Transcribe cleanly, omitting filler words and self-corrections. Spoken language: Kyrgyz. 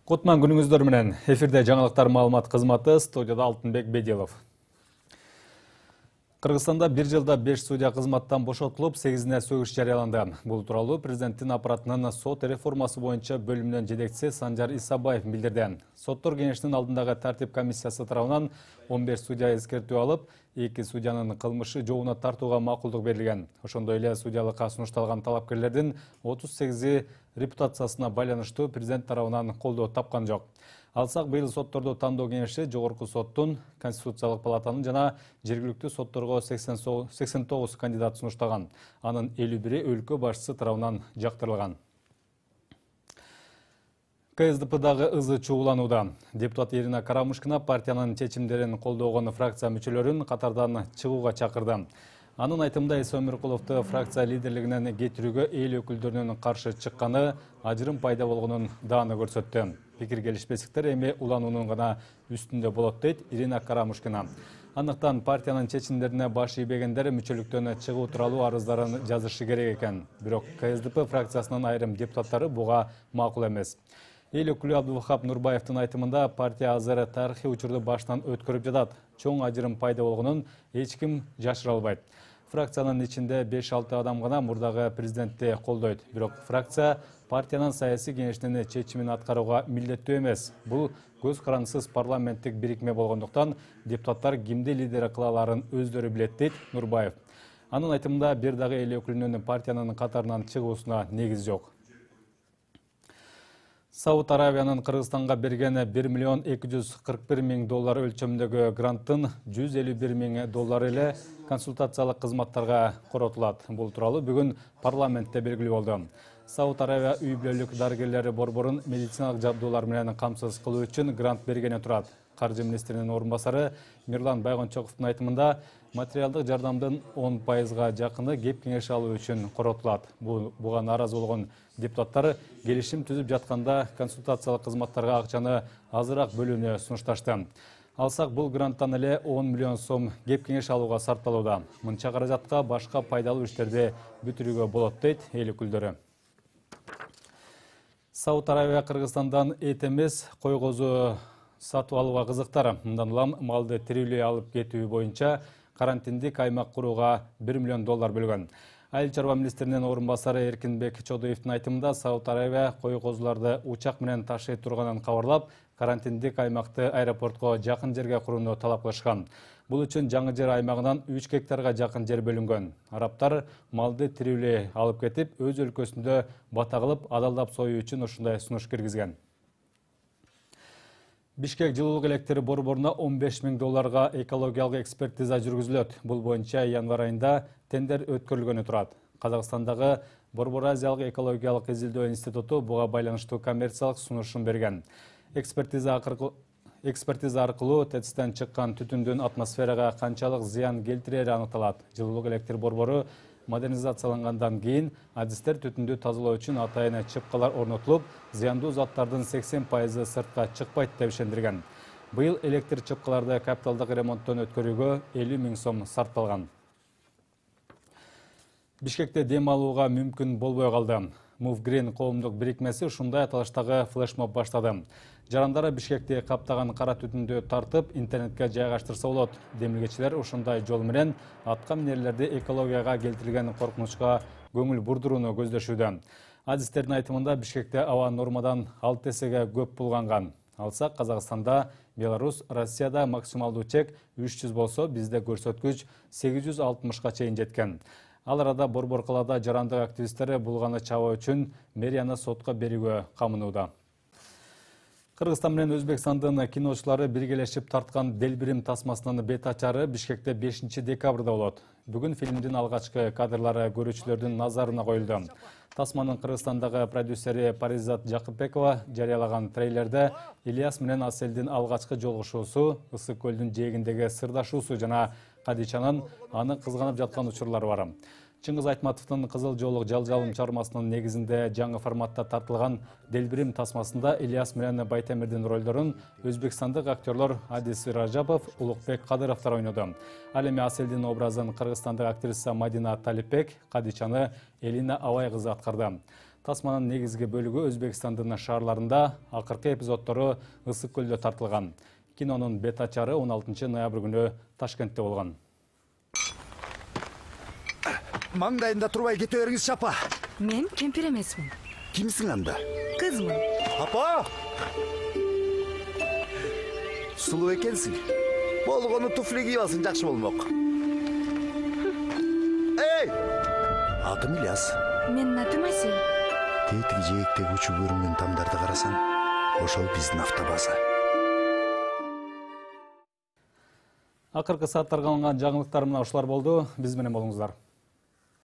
Кутман күнүңүздөр менен. Эфирде жаңылыктар маалымат кызматы, студияда Алтынбек Бедилов. Кыргызстанда бир жылда 5 судья кызматтан бошотулуп, 8-ине сөгүш жарыяланды. Бул тууралуу президенттин аппаратынын сот реформасы боюнча бөлүмүнүн жетекчиси Санжар Исабаев билдирди. Соттор кеңешинин алдындагы тартип комиссиясы тарабынан 15 судья эскертүү алып, 2 судьянын кылмышы жообуна тартууга макулдук берилген. Ошондой эле судьялыкка сунушталган талапкерлердин 38 репутациясына байланыштуу президент тарабынан колдоо тапкан жок. Алсак, быйыл сотторду тандоо кеңеши Жогорку соттун, Конституциялык палатанын жана жергиликтүү сотторго 89 кандидат сунуштаган. Анын 51-и өлкө башчысы тарабынан жактырылган. КСДПдагы ызы чууланууда. Депутат Ирина Карамушкина партиянын чечимдерин колдогон фракция мүчөлөрүн катардан чыгууга чакырды. Анын айтымында Иса Өмүркуловду фракция лидерлигинен кетирүүгө эл өкүлдөрүнүн каршы чыкканы ажырым пайда болгонун дааны көрсөттү. Пикир келишпестиктер эми улануунун гана үстүндө болот дейт Ирина Карамушкина. Андыктан партиянын чечимдерине баш ийбегендер мүчөлүктөн чыгуу тууралуу арыздарын жазышы керек экен. Бирок КСДП фракциясынын айрым депутаттары буга макул эмес. Эл өкүлү Абдулвахап Нурбаевдин айтымында партия азыр тарыхый учурду баштан өткөрүп жатат. Чоң ажырым пайда болгонун эч ким жашыра албайт. Фракциянын ичинде 5-6 адам гана мурдагы президентти колдойт. Бирок фракция партиянын саясий кеңешинин чечимин аткарууга милдеттүү эмес. Бул көз карандысыз парламенттик бирикме болгондуктан депутаттар кимди лидер кыла аларын өздөрү билет дейт Нурбаев. Анын айтымында бир дагы эл өкүлүнүн партиянын катарынан чыгуусуна негиз жок. Сауд Аравиянын Кыргызстанга берген $1,241,000 өлчөмүндөгү гранттын $151,000 эле консультациялык кызматтарга коротулат. Бул тууралуу бүгүн парламентте белгилүү болду. Сауд Аравия үй бүлөлүк дарыгерлери борборун медициналык жабдуулар менен камсыз кылуу үчүн грант бергени турат. Каржы министринин орун басары Мирлан Байгончоковдун айтымында материалдык жардамдын 10%га жакыны кеп кеңеш алуу үчүн коротулат. Буга нааразы болгон депутаттар келишим түзүп жатканда консультациялык кызматтарга акчаны азыраак бөлүүнү сунушташты. Алсак, бул гранттан эле 10 миллион сом кеп кеңеш алууга сарпталууда. Мынча каражатка башка пайдалуу иштерди бүтүрүүгө болот дейт эл өкүлдөрү. Сауд Аравия Кыргызстандан эт эмес, кой козу сатып алууга кызыктар. Мындан улам малды тирүүлөй алып кетүү боюнча карантиндик аймак курууга $1 миллион бөлгөн. Айыл чарба министринин орун басары Эркинбек Чодоевдин айтымында Сауд Аравия кой козуларды учак менен ташый турганын кабарлап, карантиндик аймакты аэропортко жакын жерге курууну талап кылышкан. Бул үчүн жаңы жер аймагынан 3 гектарга жакын жер бөлүнгөн. Арабтар малды тирүүлөй алып кетип, өз өлкөсүндө бата кылып, адалдап союу үчүн ушундай сунуш киргизген. Бишкек жылуулук электр борборуна $15,000 экологиялык экспертиза жүргүзүлөт. Бул боюнча январь айында тендер өткөрүлгөнү турат. Казакстандагы Борбор Азиялык экологиялык изилдөө институту буга байланыштуу коммерциялык сунушун берген. Экспертиза аркылуу ТЭЦтен чыккан түтүндүн атмосферага канчалык зыян келтирери аныкталат. Жылуулук электр борбору модернизациялангандан кийин адистер түтүндү тазалоо үчүн атайын чыпкалар орнотулуп, зыяндуу заттардын 80% сыртка чыкпайт деп ишендирген. Быйыл электр чыпкаларды капиталдык ремонттон өткөрүүгө 50 000 сом сарпталган. Бишкекте дем алууга мүмкүн болбой калды. Move Green коомдук бирикмеси ушундай аталыштагы флешмоб баштады. Жарандары Бишкекти каптаган кара түтүндү тартып, интернетке жайгаштырса болот. Демилгечилер ушундай жол менен атка минерлерди экологияга келтирилген коркунучка көңүл бурдурууну көздөшүүдө. Адистердин айтымында Бишкекте аба нормадан 6 эсеге көп булганган. Алсак, Казакстанда, Беларусь, Россияда максималдуу чек 300 болсо, бизде көрсөткүч 860га чейин жеткен. Ал арада Борбор калаада жарандык активисттери булганы чабуу үчүн мэрияны сотко берүүгө камынууда. Кыргызстан менен Өзбекстандын киночулары биргелешип тарткан Делбирим тасмасынын бет ачары Бишкекте 5 декабрда болот. Бүгүн фильмдин алгачкы кадрлары көрүүчүлөрдүн назарына коюлду. Тасманын Кыргызстандагы продюсери Паризат Жакыпбекова жарыялаган трейлерде Ильяс менен Аселдин алгачкы жолугушуусу, Ысык көлдүн жээгиндеги сырдашуусу жана Кадичанын аны кызганып жаткан учурлары бар. Чыңгыз Айтматовдун Кызыл жолук жалжалым чыгармасынын негизинде жаңы форматта тартылган Делбирим тасмасында Ильяс менен Байтемирдин ролдорун өзбекстандык актерлор Адис Ражапов, Улукбек Кадыровдор ойноду. Ал эми Аселдин образын кыргызстандык актриса Мадина Талипбек, Кадичаны Элина Абай кызы аткарды. Тасманын негизги бөлүгү Өзбекстандын шаарларында, акыркы эпизоддору Ысык көлдө тартылган. Кинонун бет ачары 16 ноябрь күнү Ташкентте болгон. Маңдайында турбай кете бериңизчи апа. Мен кемпир эмесмин. Кимсиң анда? Кызмын. Апа! Сулуу экенсиң. Болгону туфли кийип алсаң жакшы болмок. Эй! Атым Ильяс. Менин атым Асел. Тетиги жээктеги учуу көрүнгөн тамдарды карасаң, ошол биздин автобаза. Акыркы сааттарга алынган жаңылыктар мына ушулар болду. Биз менен болуңуздар.